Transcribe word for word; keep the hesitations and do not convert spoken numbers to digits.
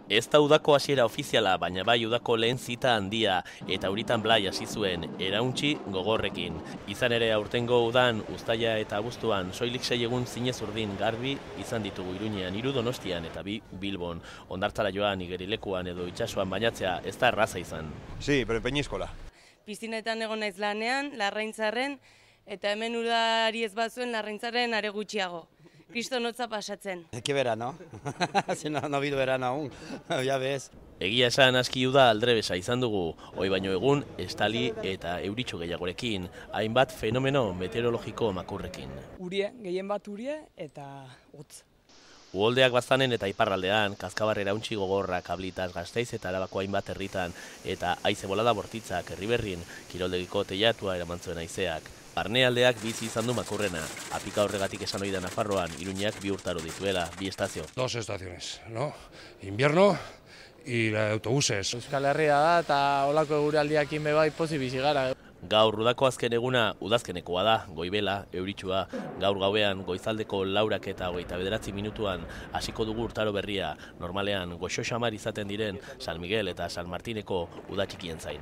Ez da udako hasiera ofiziala, baina bai udako lehen zita handia, eta euritan blai hasi zuen, erauntsi gogorrekin. Izan ere aurtengo udan, uztaila eta abuztuan, soilik sei egun zinez urdin garbi izan ditugu Iruñean, hiru Donostian eta bi Bilbon. Hondartzara joan, igerilekuan edo itsasoan bainatzea ez da erraza izan. Sí, pero Peñíscola. Piztinetan egon naiz lanean, Larraintzarren, eta hemen udari ez bazuen Larraintzarren are gutxiago. Kriston hotza pasatzen. Qué verano, si no, no ha habido verano aún, ya ves. Egia esan aski uda aldrebesa izan dugu, hoi baino egun estali eta euritxo gehiagorekin, hainbat fenomeno meteorologiko makurrekin. Urie, gehien bat urie eta utz. Uholdeak baztanen eta iparraldean, Kazkabarrera untxi gogorra, Kablitas, Gasteiz eta Arabako hainbat herritan, eta haize bolada bortitzak, Herriberrin, kiroldegiko teilatua eraman zuen haizeak. Barnealdeak bizi izan du makurrena, apika horregatik esan ohi da Nafarroan, Iruñak bi urtaro dituela, bi estazio. Dos estaciones, ¿no? Invierno y la de autobuses. Euskal Herria da eta olako eguraldiakin be bai pozik bizi gara. Gaur udako azken eguna udazkenekoa da, goibela, euritsua, gaur gauean goizaldeko laurak eta hogeita bederatzi minutuan hasiko dugu urtaro berria, normalean goxo xamar izaten diren San Miguel eta San Martineko udatxikien zain.